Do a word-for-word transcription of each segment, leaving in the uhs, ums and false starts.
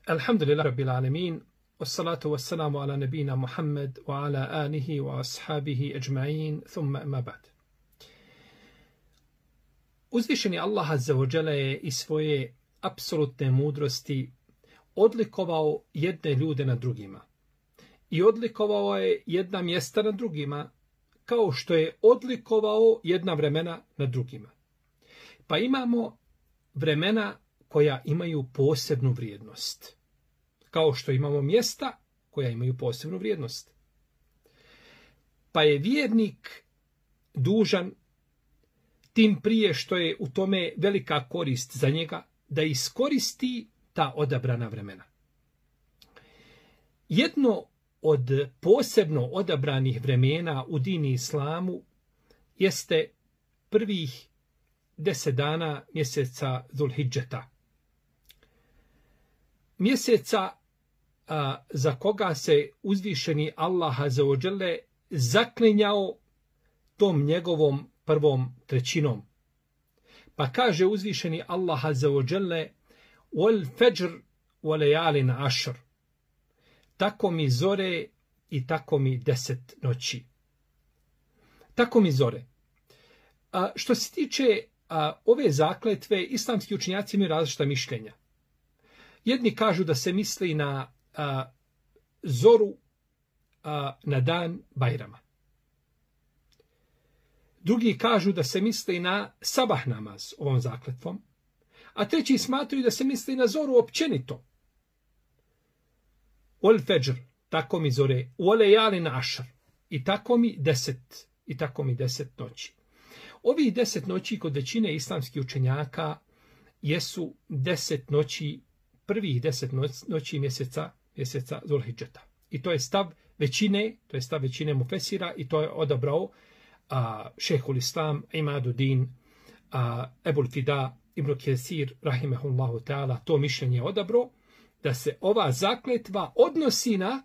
Alhamdulillah rabbil alamin, wassalatu wassalamu ala nabina Muhammad wa ala alihi wa ashabihi ajma'in, thumma amma ba'd. Uzvišeni Allah azza wa jalla je iz svoje apsolutne mudrosti odlikovao jedne ljude na drugima. I odlikovao je jedna mjesta na drugima, kao što je odlikovao jedna vremena na drugima. Pa imamo vremena koja imaju posebnu vrijednost. Kao što imamo mjesta koja imaju posebnu vrijednost. Pa je vjernik dužan, tim prije što je u tome velika korist za njega, da iskoristi ta odabrana vremena. Jedno od posebno odabranih vremena u dini islamu jeste prvih deset dana mjeseca Zulhidžeta. Mjeseca a, za koga se uzvišeni Allah azza wa dželle zaklinjao tom njegovom prvom trećinom. Pa kaže uzvišeni Allah azza wa dželle: "Wal fajr wa layalin ashr." Tako mi zore i tako mi deset noći. Tako mi zore. A, što se tiče a, ove zakletve, islamski učenjaci imaju različita mišljenja. Jedni kažu da se misli na a, zoru a, na dan Bajrama. Drugi kažu da se misli na sabah namaz ovom zakletvom. A treći smatraju da se misli na zoru općenito. Ol fajr, tako mi zore, olejali ašr, i tako mi deset, i tako mi deset noći. Ovih deset noći kod većine islamskih učenjaka jesu deset noći, prvih deset noći mjeseca, mjeseca Zulhidžeta. I to je stav većine, to je stav većine mufesira i to je odabrao a, šehhul islam, Imaduddin, a, Ebul Fida, Ibn Kesir, rahimehullahu ta'ala, to mišljenje je odabrao, da se ova zakletva odnosi na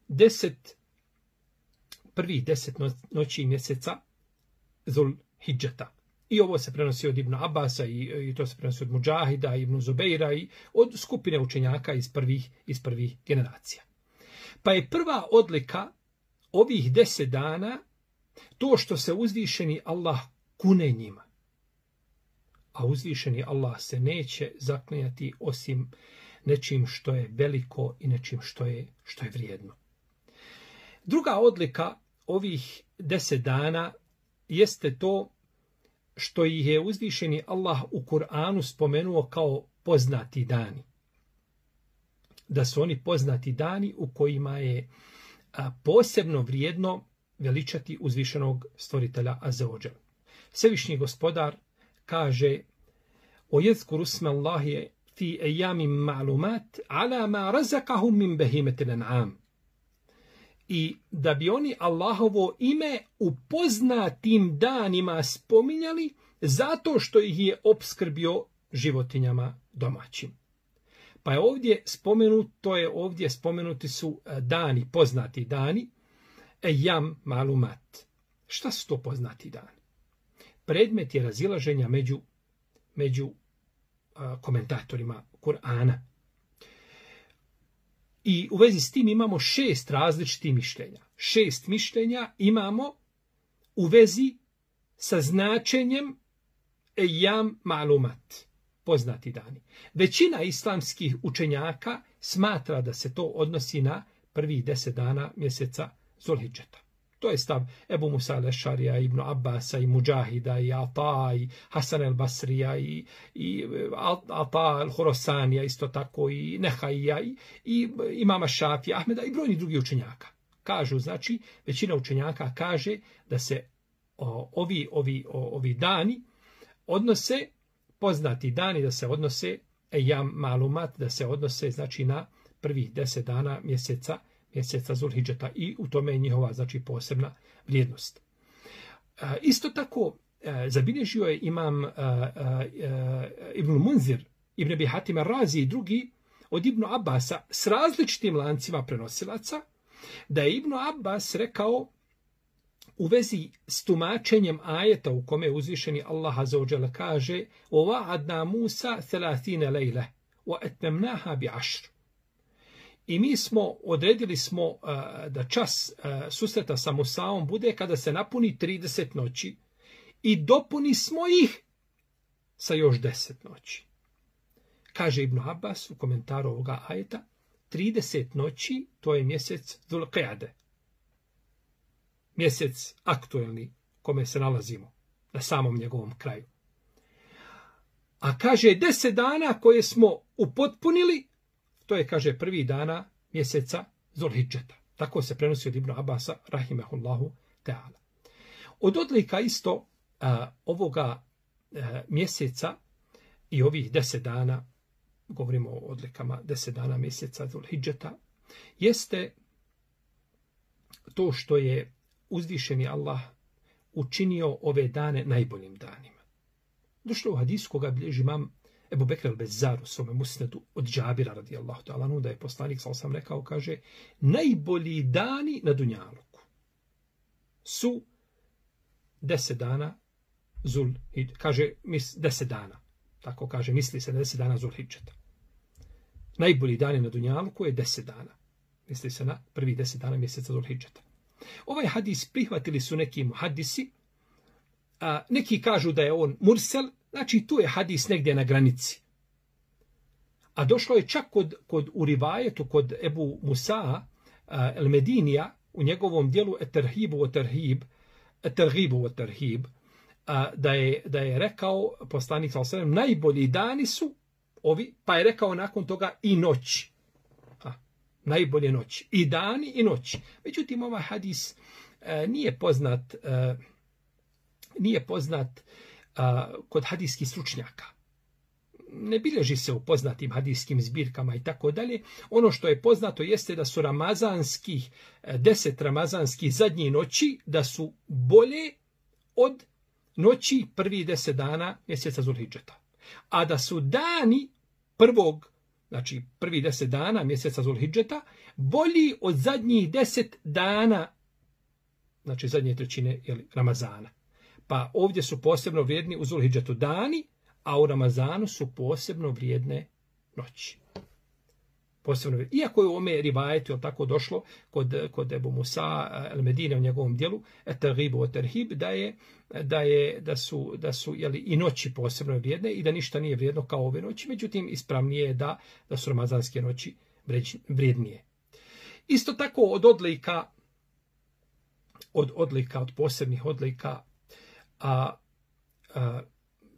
deset, prvih deset noći mjeseca Zulhidžeta. I ovo se prenosi od Ibn Abasa i, i to se prenosi od Mudžahida, Ibn Zubeira i od skupine učenjaka iz prvih, iz prvih generacija. Pa je prva odlika ovih deset dana to što se uzvišeni Allah kune njima. A uzvišeni Allah se neće zaklinjati osim nečim što je veliko i nečim što je, što je vrijedno. Druga odlika ovih deset dana jeste to što ih je uzvišeni Allah u Kur'anu spomenuo kao poznati dani. Da su oni poznati dani u kojima je posebno vrijedno veličati uzvišenog stvoritelja azza wa džal. Svevišnji gospodar kaže: "O yezkuru isma Allahi fi ayyamin ma'lumat ala ma razaqahum min bahimatil an'am." I da bi oni Allahovo ime u poznatim danima spominjali zato što ih je opskrbio životinjama domaćim. Pa je ovdje spomenuto je ovdje spomenuti su dani, poznati dani, ejam malumat. Šta su to poznati dani? Predmet je razilaženja među, među a, komentatorima Kur'ana. I u vezi s tim imamo šest različitih mišljenja. Šest mišljenja imamo u vezi sa značenjem ejam malumat, poznati dani. Većina islamskih učenjaka smatra da se to odnosi na prvih deset dana mjeseca Zulhidžeta. To je stav Ebu Musa al-Ešarija, Ibn Abbasa, i Mudžahida, i Ata, i Hasan al-Basrija, i, i Ata al-Horosanija, isto tako, i Nehaija, i, i imama Šafija, Ahmeda, i brojni drugi učenjaka. Kažu, znači, većina učenjaka kaže da se o, ovi, ovi, o, ovi dani odnose, poznati dani da se odnose, ejam malumat, da se odnose, znači, na prvih deset dana mjeseca mjeseca Zulhidžeta i u tome je njihova, znači, posebna vrijednost. E, isto tako, e, zabilježio je imam e, e, Ibn Munzir, Ibn Abi Hatim ar-Razi i drugi od Ibn Abbasa s različitim lancima prenosilaca, da je Ibn Abbas rekao u vezi s tumačenjem ajeta u kome je uzvišeni Allah azza wa dželle kaže: "Wa wa'adna Musa thalathina lejle wa atmamnaha bi ashr." I mi smo, odredili smo uh, da čas uh, susreta sa Musaom bude kada se napuni trideset noći i dopuni smo ih sa još deset noći. Kaže Ibn Abbas u komentaru ovoga ajeta, trideset noći, to je mjesec Dhul-Qa'de. Mjesec aktuelni kome se nalazimo, na samom njegovom kraju. A kaže deset dana koje smo upotpunili, to je, kaže, prvi dana mjeseca Zulhidžeta. Tako se prenosi od Ibn Abasa, rahimehullahu ta'ala. Od odlika isto a, ovoga a, mjeseca i ovih deset dana, govorimo o odlikama deset dana mjeseca Zulhidžeta, jeste to što je uzvišeni Allah učinio ove dane najboljim danima. Došlo u hadisu koga bilježi imam Ebu Bekr al-Bezzar u svome musnedu od Džabira radijallahu ta'ala anhu, da je poslanik, sal sam rekao, kaže, najbolji dani na dunjaluku su deset dana Zul, kaže, mis, deset dana, tako kaže, misli se na deset dana Zulhidžeta. Najbolji dani na dunjaluku je deset dana. Misli se na prvi deset dana mjeseca Zulhidžeta. Ovaj hadis prihvatili su neki muhadisi, a neki kažu da je on mursel, znači tu je hadis negdje na granici. A došlo je čak kod, kod u rivajetu, kod Ebu Musa el-Medinija, u njegovom dijelu Eterhibu o Terhib, Eterhibu o Terhib, da je, da je rekao poslanik sallallahu alejhi ve sellem, najbolji dani su ovi, pa je rekao nakon toga i noći. A, najbolje noći. I dani i noći. Međutim, ovaj hadis a, nije poznat, a, nije poznat a, kod hadijskih stručnjaka. Ne bilježi se u poznatim hadijskim zbirkama i tako dalje. Ono što je poznato jeste da su ramazanskih, deset ramazanskih zadnjih noći, da su bolje od noći prvi deset dana mjeseca Zulhidžeta. A da su dani prvog, znači prvi deset dana mjeseca Zulhidžeta, bolji od zadnjih deset dana, znači zadnje trećine jeli, Ramazana. Pa ovdje su posebno vrijedni u Zulhidžetu dani, a u Ramazanu su posebno vrijedne noći. Posebno vrijedne. Iako je u ome rivajetu tako došlo kod, kod Ebu Musa el-Medine u njegovom dijelu, Eterhibu o Terhib, da je da je da su da su jeli, i noći posebno vrijedne i da ništa nije vrijedno kao ove noći, međutim ispravnije je da da su ramazanske noći vrijednije. Isto tako od odlika od odlika od posebnih odlika a, a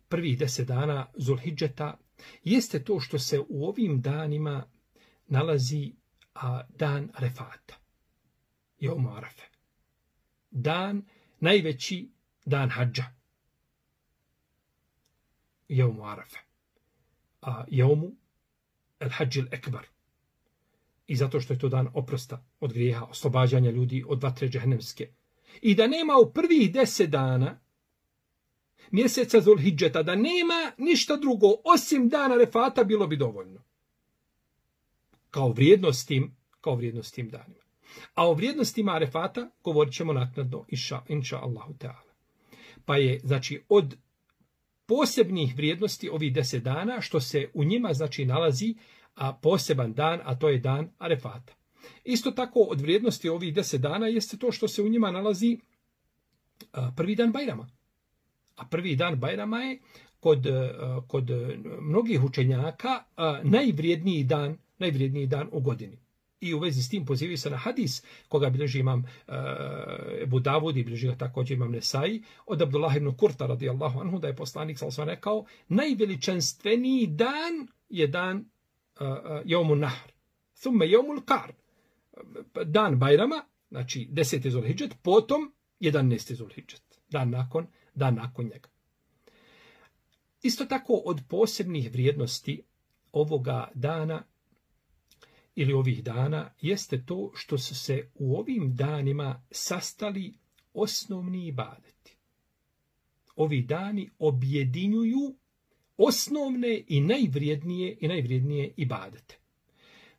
prvih deset dana Zulhidžeta jeste to što se u ovim danima nalazi a, dan Arefata. Jevmu Arafe. Dan, najveći dan hadža. Jevmu Arafe. A Jevmu el hadžil ekbar. I zato što je to dan oprosta od grijeha, oslobađanja ljudi od vatre džehennemske. I da nema u prvih deset dana mjeseca Zulhidžeta, da nema ništa drugo osim dana Arefata, bilo bi dovoljno. Kao vrijednost tim, kao vrijednost tim danima. A o vrijednostima Arefata govorit ćemo naknadno, inša, inša Allahu Teala. Pa je, znači, od posebnih vrijednosti ovih deset dana, što se u njima, znači, nalazi a poseban dan, a to je dan Arefata. Isto tako, od vrijednosti ovih deset dana jeste to što se u njima nalazi a, prvi dan Bajrama. A prvi dan Bajrama je kod, kod mnogih učenjaka a, najvrijedniji dan, najvrijedniji dan u godini. I u vezi s tim pozivaju se na hadis, koga bilježi imam Ebu Davud i bilježi ga također imam Nesai, od Abdullah ibn Kurta radijallahu anhu, da je poslanik sallallahu alejhi ve sellem rekao, najveličanstveniji dan je dan uh, Jevmu Nahr, thumme Jevmul Kar, dan Bajrama, znači deseti Zulhidžet, potom jedanaesti Zulhidžet, dan nakon, dan nakon njega. Isto tako od posebnih vrijednosti ovoga dana ili ovih dana jeste to što su se u ovim danima sastali osnovni ibadeti. Ovi dani objedinjuju osnovne i najvrijednije i najvrijednije ibadete.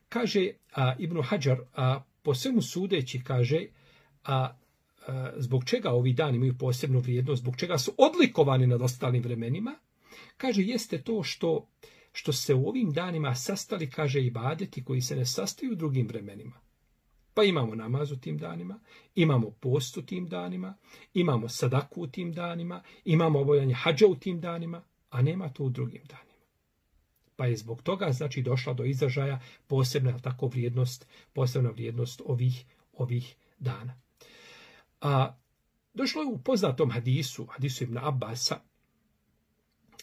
Kaže a, Ibn Hadžar, a, po svemu sudeći, kaže, a, a, zbog čega ovi dani imaju posebnu vrijednost, zbog čega su odlikovani nad ostalim vremenima, kaže, jeste to što što se u ovim danima sastali, kaže, ibadeti koji se ne sastaju u drugim vremenima. Pa imamo namaz u tim danima, imamo post u tim danima, imamo sadaku u tim danima, imamo obavljanje hadža u tim danima, a nema to u drugim danima. Pa je zbog toga, znači, došla do izražaja posebna tako vrijednost, posebna vrijednost ovih, ovih dana. A došlo je u poznatom hadisu, hadisu Ibn Abbasa,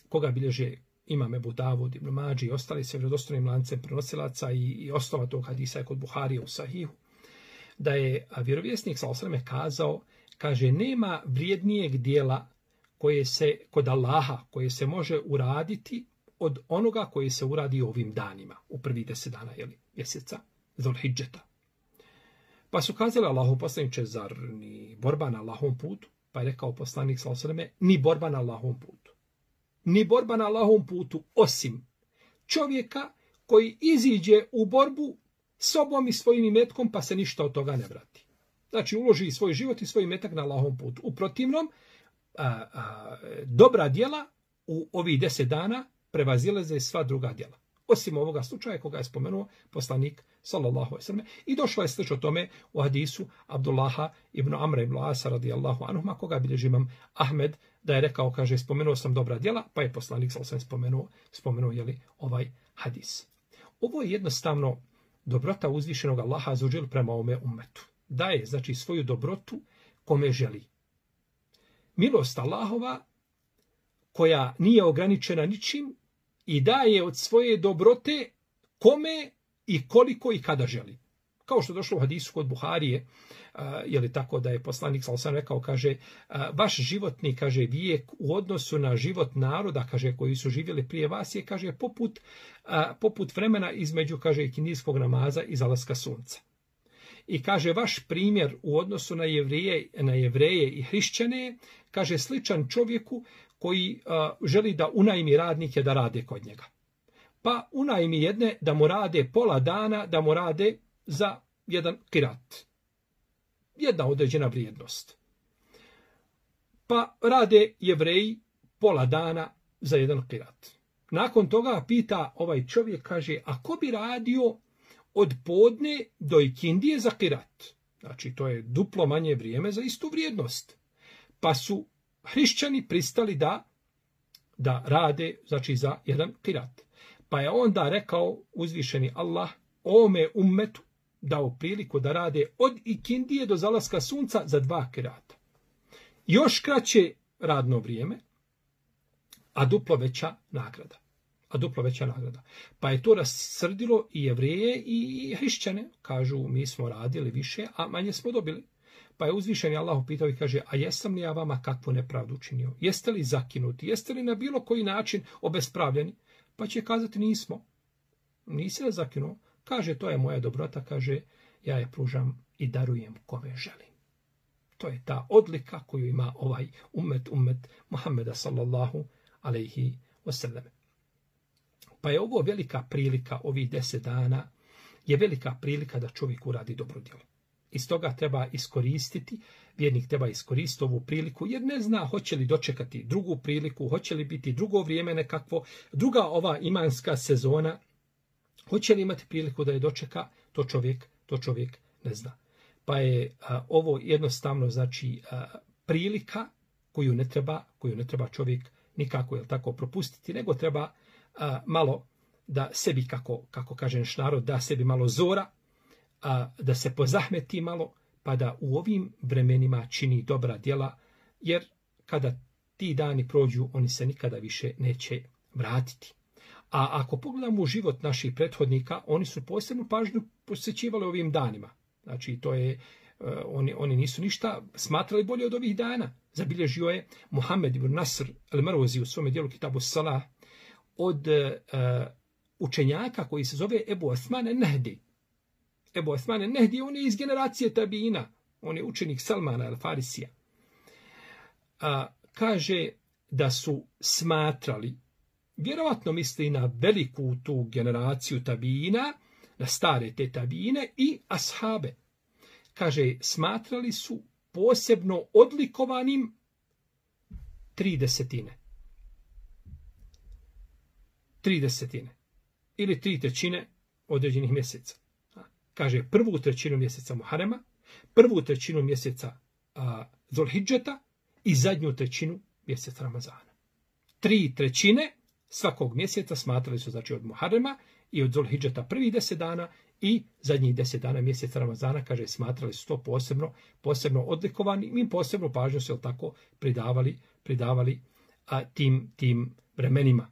koga bilježe imam Ebu Davud, Ibn Mađi i ostali se vjerodostojnim lancem prenosilaca i, i osnova tog hadisa je kod Buharija u Sahihu, da je vjerovjesnik sallallahu alejhi ve sellem kazao, kaže, nema vrijednijeg dijela koje se kod Allaha, koje se može uraditi od onoga koje se uradi ovim danima, u prvi deset dana, jeli, mjeseca Zulhidžeta. Pa su kazali Allahu poslaniče, zar ni borba na Allahovom putu? Pa je rekao poslanik sallallahu alejhi ve sellem, ni borba na Allahovom putu. Ni borba na Allahovom putu, osim čovjeka koji iziđe u borbu sobom i svojim imetkom, pa se ništa od toga ne vrati. Znači, uloži svoj život i svoj imetak na Allahovom putu. U protivnom, a, a, dobra djela u ovih deset dana prevazilaze sva druga djela. Osim ovoga slučaja koga je spomenuo poslanik sallallahu alejhi ve sellem. I došlo je slično tome u hadisu Abdullaha ibn Amra ibn Asa radijallahu anhuma, koga bilježi imam Ahmed, da je rekao, kaže, spomenuo sam dobra djela, pa je poslanik sallallahu alejhi ve sellem spomenuo, spomenuo jeli, ovaj hadis. Ovo je jednostavno dobrota uzvišenog Allaha azza wa džel prema ovome ummetu. Daje, znači, svoju dobrotu kome želi. Milost Allahova, koja nije ograničena ničim, i daje od svoje dobrote kome i koliko i kada želi. Kao što je došlo u hadisu kod Buharije, je li tako da je poslanik sallallahu alejhi ve sellem rekao, kaže, vaš životni, kaže, vijek u odnosu na život naroda, kaže, koji su živjeli prije vas je, kaže, poput, poput vremena između, kaže, kindijskog namaza i zalaska sunca. I kaže, vaš primjer u odnosu na jevreje, na jevreje i hrišćane, kaže, sličan čovjeku koji uh, želi da unajmi radnike da rade kod njega. Pa unajmi jedne da mu rade pola dana, da mu rade za jedan kirat. Jedna određena vrijednost. Pa rade Jevreji pola dana za jedan kirat. Nakon toga pita ovaj čovjek, kaže, a ko bi radio od podne do ikindije za kirat? Znači, to je duplo manje vrijeme za istu vrijednost. Pa su hrišćani pristali da da rade, znači, za jedan kirat. Pa je onda rekao uzvišeni Allah ome ummetu dao priliku da rade od ikindije do zalaska sunca za dva kirata. Još kraće radno vrijeme, a duplo veća nagrada. A duplo veća nagrada. Pa je to rasrdilo i Jevreje i hrišćane. Kažu, mi smo radili više, a manje smo dobili. Pa je uzvišeni Allah pitao i kaže, a jesam li ja vama kakvu nepravdu učinio? Jeste li zakinuti? Jeste li na bilo koji način obespravljeni? Pa će kazati, nismo. Nisi li zakinuo? Kaže, to je moja dobrota, kaže, ja je pružam i darujem kome želim. To je ta odlika koju ima ovaj ummet, ummet Muhammeda sallallahu alejhi ve sellem. Pa je ovo velika prilika, ovih deset dana, je velika prilika da čovjek uradi dobro djelo. Iz toga treba iskoristiti, vjernik treba iskoristiti ovu priliku, jer ne zna hoće li dočekati drugu priliku, hoće li biti drugo vrijeme nekakvo, druga ova imanska sezona, hoće li imati priliku da je dočeka, to čovjek, to čovjek ne zna. Pa je a, ovo jednostavno, znači, a, prilika koju ne treba, koju ne treba čovjek nikako, jel tako, propustiti, nego treba a, malo da sebi, kako, kako kaže naš narod, da sebi malo zora, a, da se pozahmeti malo, pa da u ovim vremenima čini dobra djela, jer kada ti dani prođu, oni se nikada više neće vratiti. A ako pogledamo u život naših prethodnika, oni su posebnu pažnju posvećivali ovim danima. Znači, to je, uh, oni, oni nisu ništa smatrali bolje od ovih dana. Zabilježio je Muhammed ibn Nasr al-Marwazi u svome dijelu Kitabu Salah od uh, učenjaka koji se zove Ebu Osman el-Nehdi. Ebu Osman el-Nehdi, on je iz generacije Tabina, on je učenik Salmana al-Farisija. Uh, kaže da su smatrali, vjerovatno misli na veliku tu generaciju Tabina, na stare te Tabine i ashabe. Kaže, smatrali su posebno odlikovanim tri desetine. tri desetine ili tri trećine određenih mjeseca. Kaže prvu trećinu mjeseca Muharema, prvu trećinu mjeseca a, Zulhidžeta i zadnju trećinu mjeseca Ramazana. Tri trećine svakog mjeseca smatrali su znači od Muharema i od Zulhidžeta prvih deset dana i zadnjih deset dana mjeseca Ramazana, kaže, smatrali su to posebno, posebno odlikovani. Mi posebno pažnju se tako pridavali, pridavali a, tim, tim vremenima.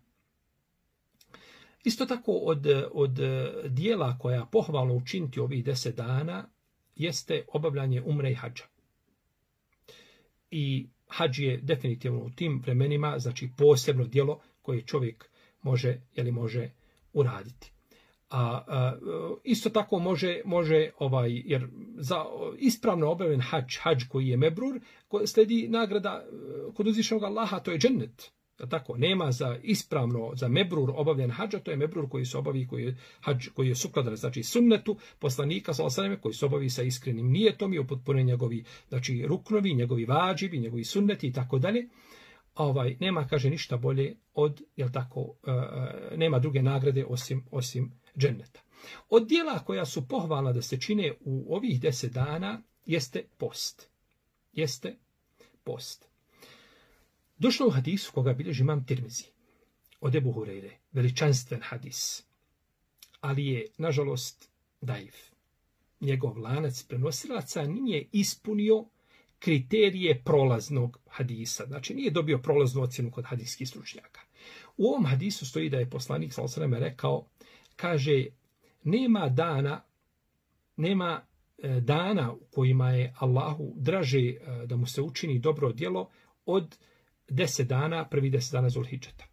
Isto tako od, od dijela koja pohvalno učiniti ovih deset dana jeste obavljanje umre i hadža. I hadž je definitivno u tim vremenima, znači posebno djelo koje čovjek može, jeli može uraditi. A, a isto tako može, može ovaj, jer za ispravno obavljen hadž, hadž koji je mebrur, slijedi nagrada kod uzvišenog Allaha, to je džennet. Tako, nema za ispravno, za mebrur obavljen hadža, to je mebrur koji se obavi, koji je, hadž, koji je sukladan, znači sunnetu poslanika sallallahu alejhi ve selleme, koji se obavi sa iskrenim nijetom i upotpune njegovi, znači ruknovi, njegovi vađibi, njegovi sunneti i tako dalje. Ovaj, nema, kaže, ništa bolje od, jel tako, uh, nema druge nagrade osim, osim dženneta. Od dijela koja su pohvalna da se čine u ovih deset dana jeste post. Jeste post. Došlo u hadisu koga bilježi imam Tirmizi od Ebu Hureyre, veličanstven hadis, ali je, nažalost, daif. Njegov lanac prenosilaca nije ispunio kriterije prolaznog hadisa, znači nije dobio prolaznu ocjenu kod hadijskih stručnjaka. U ovom hadisu stoji da je poslanik sallallahu alejhi ve sellem rekao, kaže, nema dana, nema e, dana u kojima je Allahu draže e, da mu se učini dobro djelo od deset dana, prvi deset dana Zulhidžeta.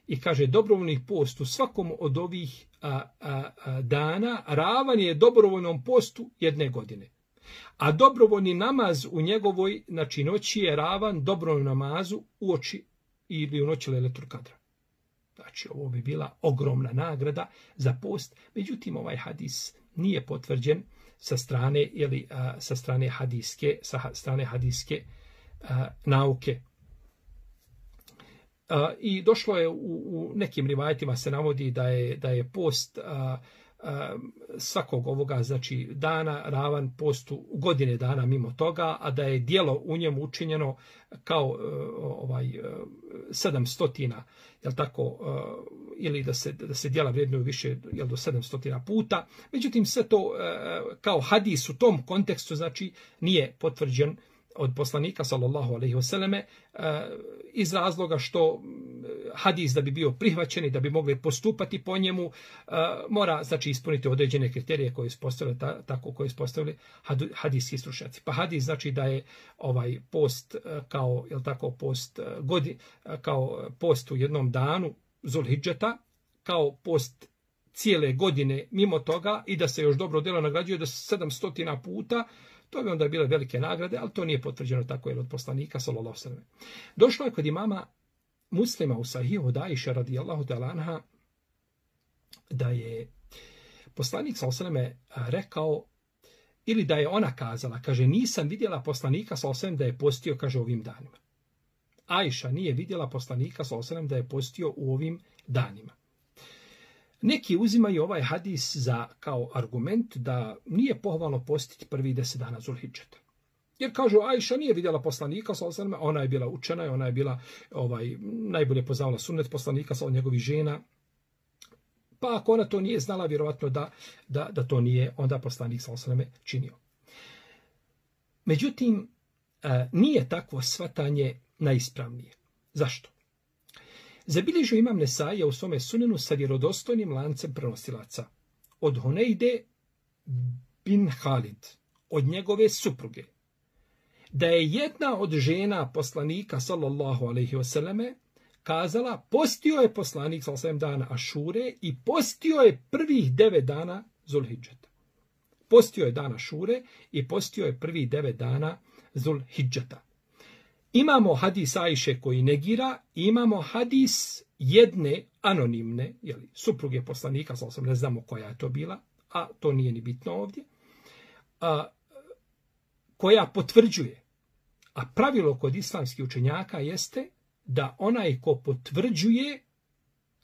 I kaže, dobrovoljni post u svakom od ovih a, a, a, dana ravan je dobrovoljnom postu jedne godine. A dobrovoljni namaz u njegovoj, znači, noći je ravan dobrovoljnom namazu u oči ili u noći Lejletul Kadra. Znači, ovo bi bila ogromna nagrada za post. Međutim, ovaj hadis nije potvrđen sa strane, ili, a, sa strane hadijske, sa strane hadijske a, nauke. Uh, I došlo je u, u nekim rivajetima se navodi da je, da je post uh, uh, svakog ovoga, znači dana ravan postu godine dana mimo toga, a da je djelo u njemu učinjeno kao uh, ovaj uh, sedamstotina, jel tako, uh, ili da se, da se djela vrijednuju više, jel do sedamstotina puta. Međutim, sve to uh, kao hadis u tom kontekstu, znači, nije potvrđen od poslanika sallallahu alejhi ve selleme iz razloga što hadis da bi bio prihvaćen i da bi mogli postupati po njemu mora, znači, ispuniti određene kriterije koje su postavili ta, tako koje su postavili hadijski stručnjaci. Pa hadis znači da je ovaj post kao, jel tako, post godin, kao post u jednom danu Zulhidžeta, kao post cijele godine mimo toga i da se još dobro djelo nagrađuje do sedamstotina puta. To bi onda bile velike nagrade, ali to nije potvrđeno tako je od poslanika sallallahu alejhi ve sellem. Došlo je kod imama Muslima u Sahihu od Ajše radijallahu ta'ala anha da je poslanik sallallahu alejhi ve sellem rekao, ili da je ona kazala, kaže, nisam vidjela poslanika sallallahu alejhi ve sellem da je postio, kaže, ovim danima. Ajša nije vidjela poslanika sallallahu alejhi ve sellem da je postio u ovim danima. Neki uzimaju ovaj hadis za kao argument da nije pohvalno postiti prvi deset dana Zulhidžeta. Jer kažu, Ajša nije vidjela poslanika, ona je bila učena, ona je bila ovaj, najbolje poznavala sunnet poslanika sa njegovih žena. Pa ako ona to nije znala, vjerovatno da, da, da to nije onda poslanik sallallahu činio. Međutim, nije takvo shvatanje najispravnije. Zašto? Zabilježio imam Nesaija u svome sunenu sa vjerodostojnim lancem prenosilaca od Hunejde bin Halid, od njegove supruge, da je jedna od žena poslanika sallallahu alejhi ve selleme kazala, postio je poslanik sallallahu alejhi ve sellem dana Ašure i postio je prvih devet dana Zulhidžeta. Postio je dana Ašure i postio je prvih devet dana Zulhidžeta. Imamo hadis Ajše koji negira, imamo hadis jedne anonimne, jeli, supruge poslanika, sallallahu alejhi ve sellem, ne znamo koja je to bila, a to nije ni bitno ovdje, a, koja potvrđuje. A pravilo kod islamskih učenjaka jeste da onaj ko potvrđuje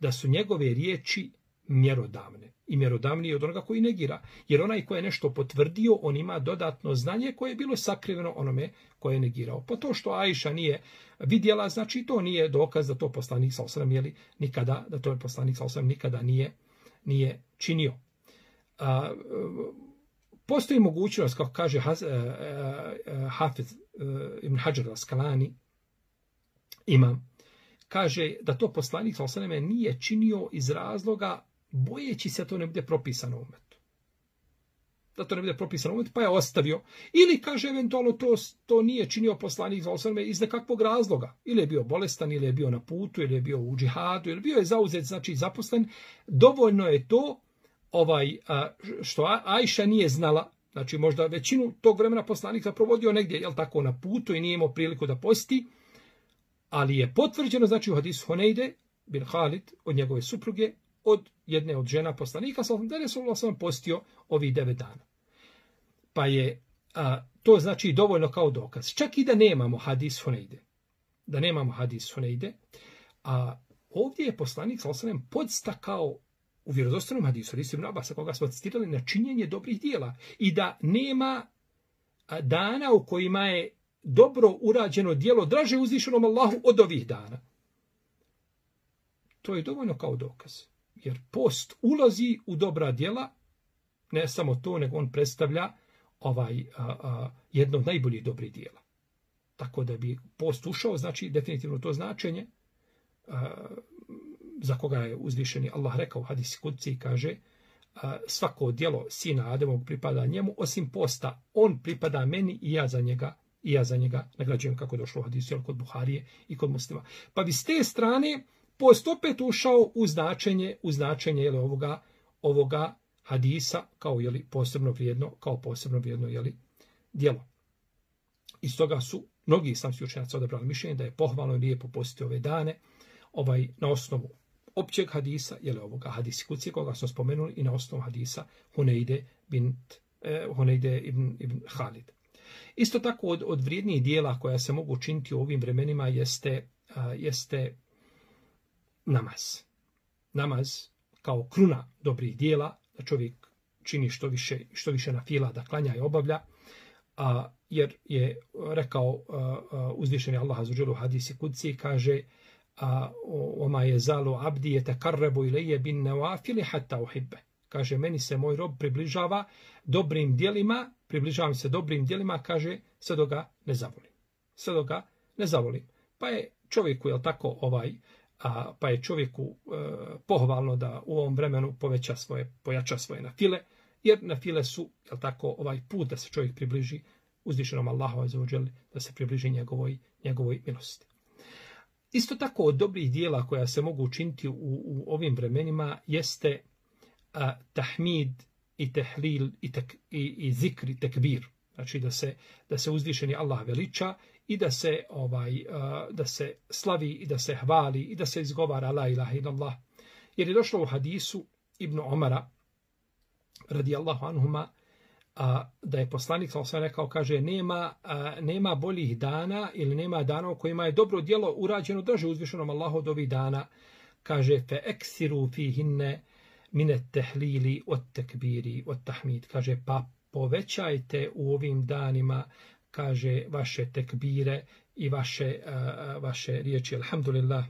da su njegove riječi mjerodavne. I mjerodavnije od onoga koji negira. Jer onaj ko je nešto potvrdio, on ima dodatno znanje koje je bilo sakriveno onome koje je negirao. Pa to što Ajša nije vidjela, znači to nije dokaz da to poslanik sallallahu alejhi ve sellem nikada, da to je poslanik sallallahu alejhi ve sellem nikada nije, nije činio. A, postoji mogućnost, kako kaže Hafiz ibn Hadžar al-Askalani, imam, kaže da to poslanik sallallahu alejhi ve sellem nije činio iz razloga bojeći se da to ne bude propisano umetu. Da to ne bude propisano umetu, pa je ostavio. Ili kaže eventualno to, to nije činio poslanik sallallahu alejhi ve sellem iz nekakvog razloga. Ili je bio bolestan, ili je bio na putu, ili je bio u džihadu, ili bio je zauzet, znači zaposlen. Dovoljno je to ovaj što Ajša nije znala, znači možda većinu tog vremena poslanika provodio negdje, jel tako, na putu i nije imao priliku da posti, ali je potvrđeno, znači u hadisu Hunejde bin Halid od njegove supruge, od jedne od žena poslanika, da je sallallahu alejhi ve sellem postio ovih devet dana. Pa je a, to znači dovoljno kao dokaz. Čak i da nemamo hadis Hunejde, da nemamo hadis Hunejde, a ovdje je poslanik sallallahu alejhi ve sellem podstakao u vjerodostojnom hadisu, hadisu Ibn Abasa, koga smo citirali, na činjenje dobrih djela i da nema dana u kojima je dobro urađeno djelo draže uzvišenom Allahu od ovih dana. To je dovoljno kao dokaz. Jer post ulazi u dobra djela, ne samo to, nego on predstavlja ovaj a, a, jedno od najboljih dobrih djela. Tako da bi post ušao, znači definitivno to značenje, a, za koga je uzvišeni Allah rekao u hadisi kudsi, kaže a, svako djelo sina Ademovog pripada njemu, osim posta, on pripada meni i ja za njega, i ja za njega nagrađujem, kako došlo u hadisu, jel, kod Buharije i kod Muslima. Pa bi s te strane post opet ušao u značenje, u značenje jeli, ovoga, ovoga hadisa kao jeli, posebno vrijedno, kao posebno vrijedno jeli, djelo. Iz toga su mnogi islamski učenjaci odabrali mišljenje da je pohvalno i lijepo postiti ove dane, ovaj, na osnovu općeg hadisa, jeli, ovoga hadisi kuci, koga smo spomenuli, i na osnovu hadisa Hunejde, bin, eh, Hunejde ibn, ibn Halid. Isto tako od, od vrijednijih dijela koja se mogu učiniti u ovim vremenima jeste, a, jeste namaz. Namaz kao kruna dobrih dijela, da čovjek čini što više, što više na fila, da klanja i obavlja, a, jer je rekao a, a, uzvišeni Allah azza wa dželle u hadisi kudsi, kaže a, oma je zalu abdi yatakarrabu ilayya bin nawafil hatta uhibbe. Kaže, meni se moj rob približava dobrim djelima, približavam se dobrim djelima, kaže, sve dok ga ne zavolim. Sve dok ga ne zavolim. Pa je čovjeku, jel tako, ovaj, a, pa je čovjeku e, pohvalno da u ovom vremenu poveća svoje, pojača svoje nafile, jer nafile su, jel tako, ovaj put da se čovjek približi uzvišenom Allahu azza wa dželle, da se približi njegovoj, njegovoj milosti. Isto tako od dobrih dijela koja se mogu učiniti u, u ovim vremenima jeste a, tahmid i tehlil i, tek, i, i zikr i tekbir. Znači da se, da se uzvišeni Allah veliča i da se, ovaj, a, da se slavi i da se hvali i da se izgovara la ilaha illallah. Jer je došlo u hadisu Ibn Omara radijallahu anhuma a, da je poslanik sallallahu alejhi ve sellem rekao, kaže, nema, a, nema boljih dana ili nema dana u kojima je dobro djelo urađeno draže uzvišenom Allahu od ovih dana. Kaže, fe eksiru fihinne minet tehlili od tekbiri od tahmid. Kaže, pa povećajte u ovim danima, kaže, vaše tekbire i vaše, uh, vaše riječi alhamdulillah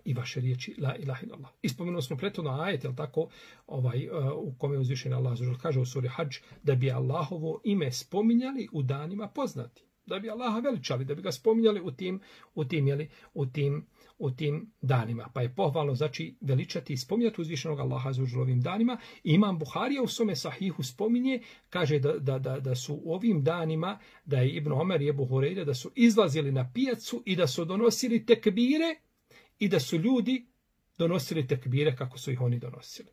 i vaše riječi la ilaha illallah. Ispomenuo smo prethodno ajet, jel tako, ovaj, uh, u kome je uzvišen Allah kaže u suri Hadž, da bi Allahovo ime spominjali u danima poznati. Da bi Allaha veličali, da bi ga spominjali u tim, u tim, jeli, u tim u tim danima. Pa je pohvalno, znači, veličati i spominjati uzvišenog Allaha za ovim danima. I Imam Buharija u svome sahihu spominje, kaže da, da, da, da su u ovim danima, da je Ibn Omer i Ebu Hureyre, da su izlazili na pijacu i da su donosili tekbire i da su ljudi donosili tekbire kako su ih oni donosili.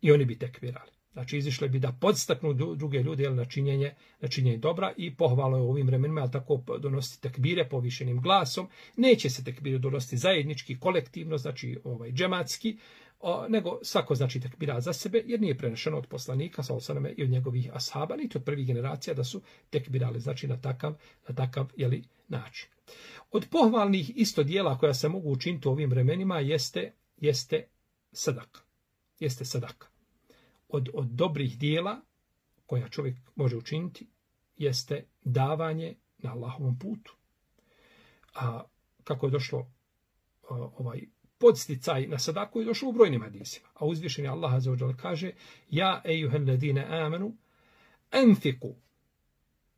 I oni bi tekbirali. Znači, izišli bi da podstaknu druge ljude jel, na, činjenje, na činjenje dobra i pohvalo je u ovim vremenima, ali tako donositi tekbire povišenim glasom. Neće se tekbire donositi zajednički, kolektivno, znači ovaj, džematski, o, nego svako znači tekbira za sebe, jer nije prenešeno od poslanika sallallahu alejhi ve sellem i od njegovih ashaba, niti od prvih generacija da su tekbirali, znači na takav, na takav jeli, način. Od pohvalnih isto dijela koja se mogu učiniti u ovim vremenima jeste, jeste sadaka. Jeste sadaka. Od, od dobrih dijela koja čovjek može učiniti jeste davanje na Allahovom putu. A kako je došlo a, ovaj podsticaj na sadaku je došlo u brojnim hadisima. A uzvišeni Allah azza wa dželle kaže: Ja ejuhel ladine amanu anfiku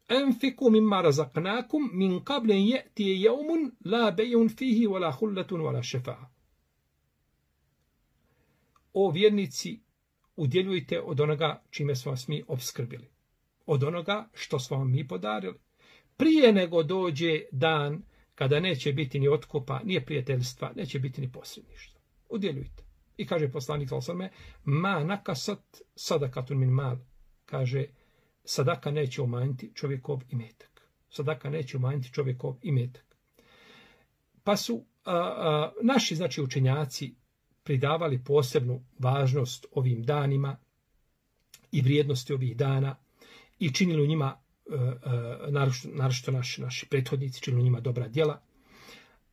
anfiku mimma razaqnakum min qabl an ya'ti yawmun la bay'un fihi wala khullatun wala shafa'a. O vjernici, udjeljujte od onoga čime smo vas mi opskrbili. Od onoga što smo vam mi podarili. Prije nego dođe dan kada neće biti ni otkupa, ni prijateljstva, neće biti ni posredništva. Udjeljujte. I kaže poslanik sallallahu alejhi ve sellem: Ma nakasat sadakatun min mal. Kaže, sadaka neće umanjiti čovjekov imetak. Sadaka neće umanjiti čovjekov imetak. Pa su a, a, naši, znači, učenjaci pridavali posebnu važnost ovim danima i vrijednosti ovih dana i činili u njima, e, e, naročito naši, naši prethodnici, činili u njima dobra djela.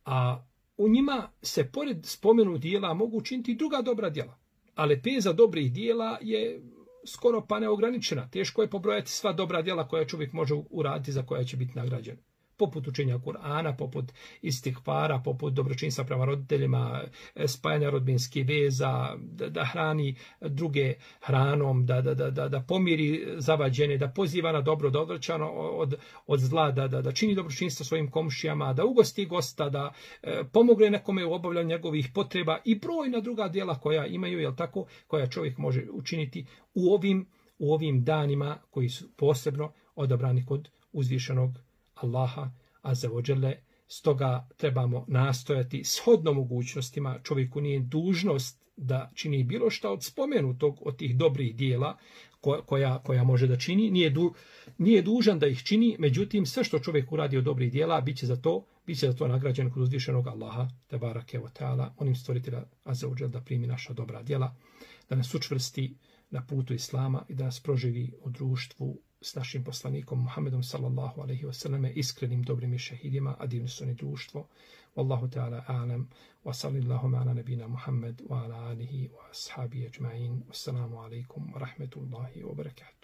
A u njima se pored spomenu djela mogu učiniti i druga dobra djela. A lepeza dobrih djela je skoro pa neograničena. Teško je pobrojati sva dobra djela koja čovjek može uraditi, za koja će biti nagrađen. Poput učenja Kur'ana, poput istihfara, poput dobročinstva prema roditeljima, spajanja rodbinskih veza, da, da hrani druge hranom, da, da, da, da pomiri zavađene, da poziva na dobro, da odvraća od, od zla, da, da, da čini dobročinstvo svojim komšijama, da ugosti gosta, da e, pomogne nekome u obavljanju njegovih potreba i brojna druga djela koja imaju, jel tako, koja čovjek može učiniti u ovim, u ovim danima koji su posebno odabrani kod uzvišenog Allaha azza wa dželle. Stoga trebamo nastojati shodno mogućnostima. Čovjeku nije dužnost da čini bilo šta od spomenutog, od tih dobrih dijela koja, koja može da čini. Nije, du, nije dužan da ih čini, međutim sve što čovjek uradi od dobrih dijela bit će za to, bit će za to nagrađen kod uzvišenog Allaha tebarake wa ta'ala. Onim stvoritelja azza wa dželle da primi naša dobra djela, da nas učvrsti na putu Islama i da nas proživi u društvu s našim poslanikom Muhammedom sallallahu alejhi ve selleme, iskrenim dobrim i šehidima, a divno su oni društvo. Wallahu ta'ala a'lam, wa sallallahu ala nabina Muhammed wa ala alihi wa ashabihi ajma'in. Wassalamu alaikum wa rahmetullahi wa barakatuh.